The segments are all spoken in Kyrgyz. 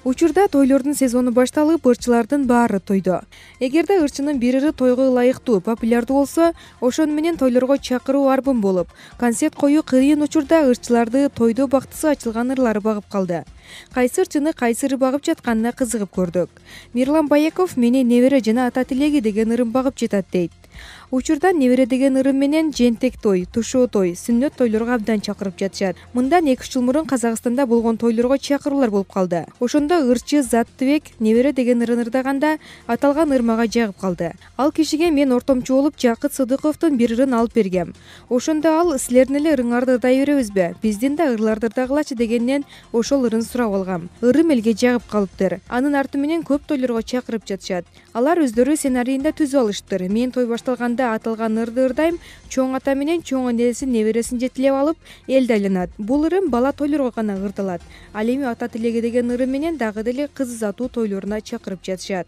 Учурда тойлордун сезону башталып, ырчылардын баары тойдо. Эгерде ырчынын бир ыры тойго ылайыктуу, популярдуу болсо, ошону менен тойлорго чакыруу арбын болуп, концерт коюу кыйын учурда ырчыларды тойдо бактысы ачылган ырлары багып калды. Кайсы ырчыны кайсы ыры багып жатканына кызыгып көрдүк. Мирлан Баяков «Менин небере жана ата тилеги» деген ырын багып жатат дейт. Учурда небере деген ырым менен жентек той, тушоо той, сүннөт тойлорго абдан чакырып жатышат. Мындан 2 жыл мурун Казакстанда болгон тойлорго чакыруулар болуп калды. Ошондо ырчы Заттыбек небере деген ырын ырдаганда аталган ыр мага жагып калды. Ал кишиге мен ортомчу болуп Жакыт Сыдыковдун бир ырын алып бергем. Ошондо ал «Силердин эле ырыңарды ырдай беребизби? Биздин да ырларды ырдагылачы» дегенден ошол ырын сурап алгам. Ырым элге жагып калыптыр. Анын арты менен көп тойлорго чакырып жатышат. Алар өздөрү сценарийинде түзүп алыштыр. Мен той башталганда аталган ырды ырдайм, чоң ата менен чоң энесин небересин жетилеп алып, элди айланат. Бул ырым бала тойлорго гана ырдалат. Ал эми ата тилеги деген ырым менен дагы деле кыз узатуу тойлоруна чакырып жатышат.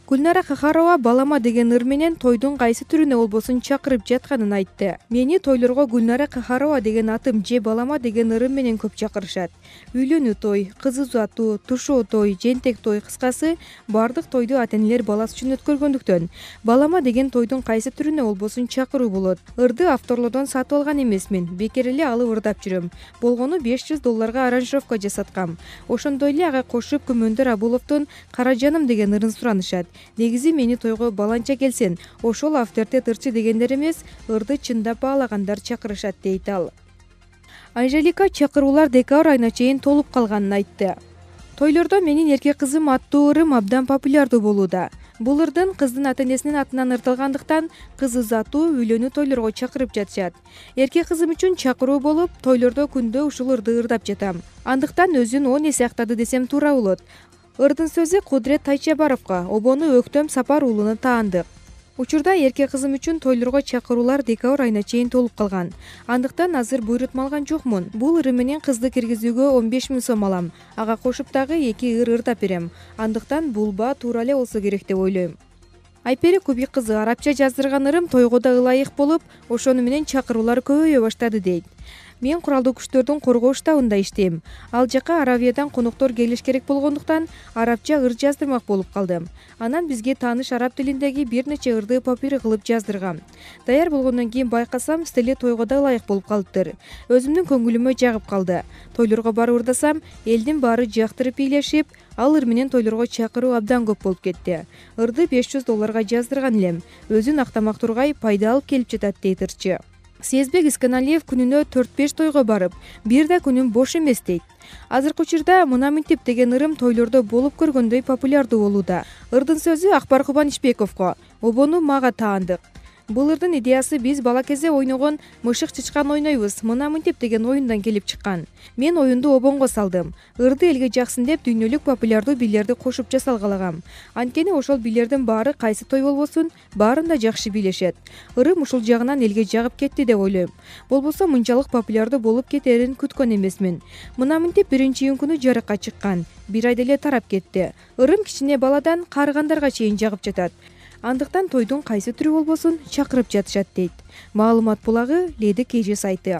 Гүлнара Кахарова «Балама» деген ыр менен тойдун кайсы түрүнө болбосун чакырып жатканын айтты. Мени тойлорго Гүлнара Кахарова деген атым же «Балама» деген ырым менен көп чакырышат. Үйлөнүү той, кыз узатуу, тушоо той, жентек той, кыскасы бардык тойду ата-энелер баласы үчүн өткөргөндүктөн «Балама» деген тойдун кайсы түрүнө болбосун чакыруу болот. Ырды авторлордон сатып алган эмесмин, бекер эле алып ырдап жүрөм. Болгону $500 аранжировка жасаткам. Ошондой эле ага кошуп Күмөндөр Абуловдун «Кара жаным» деген ырын суранышат. Негизи мени тойго баланча келсин, ошол авторитет ырчы дегендер эмес, ырды чындап баалагандар чакырышат дейт ал. Анжелика чакыруулар декабрь айына чейин толуп калганын айтты. Тойлордо «Менин эрке кызым» аттуу ырым абдан популярдуу болууда. Бул ырдын кыздын ата-энесинин атынан ырдалгандыктан кыз узатуу, үйлөнүү тойлорго чакырып жатышат. Эрке кызым үчүн чакыруу болуп, тойлордо күндө ушул ырды ырдап жатам. Андыктан өзүн 10 эсе актады десем туура болот. Ырдын сөзү Кудрет Тайчабаровго, обону Өктөм Сапар уулуна таандык. Учурда эрке кызым үчүн тойлорго чакыруулар декабрь айына чейин толуп калган. Андыктан азыр буйрутма алган жокмун. Бул ырым менен кызды киргизүүгө 15 000 сом алам. Ага кошуп дагы 2 ыр ырдап берем. Андыктан бул баа туура эле болсо керек деп ойлойм. Айпери Кубик кызы арабча жаздырган ырым тойго да ылайык болуп, ошону менен чакыруулар көбөйө баштады дейт. Мен куралдуу күчтөрдүн коргоо штабында иштейм. Ал жака Аравиядан коноктор келиш керек болгондуктан арабча ыр жаздырмак болуп калдым. Анан бизге тааныш араб тилиндеги бир нече ырды папир кылып жаздыргам. Даяр болгондон кийин байкасам, стили тойго да ылайык болуп калыптыр. Өзүмдүн көңүлүмө жагып калды. Тойлорго барып ырдасам, элдин баары жактырып бийлешип, ал ыр менен тойлорго чакыруу абдан көп болуп кетти. Ырды $500 жаздырган элем. Өзүн актамак тургай пайда алып келип жатат дейт ырчы. Сезбек Исканалиев күнүнө 4-5 тойго барып, бир да күнүм бош эмес дейт. Азыркы учурда «Мына мынтип» деген ырым тойлордо болуп көргөндөй популярдуу болууда. Ырдын сөзү Акбар Кубанычбековго, обону мага таандык. Бул ырдын идеясы биз бала кезде ойногон «Мышык чычкан ойнойбуз, мына мынтип» деген оюндан келип чыккан. Мен оюнду обонго салдым. Ырды элге жаксын деп дүйнөлүк популярдуу бийлерди кошуп жасалгалагам. Анткени ошол бийлердин баары кайсы той болбосун, баарын да жакшы бийлешет. Ырым ушул жагынан элге жагып кетти деп ойлойм. Болбосо мынчалык популярдуу болуп кетерин күткөн эмесмин. Мына мынтип биринчи июнь жарыкка чыккан. Бир айда эле тарап кетти. Ырым кичине баладан карыгандарга чейин жагып жатат. Андыктан тойдун кайсы түрү болбосун чакырып жатышат дейт. Маалымат булагы Леди KG сайты.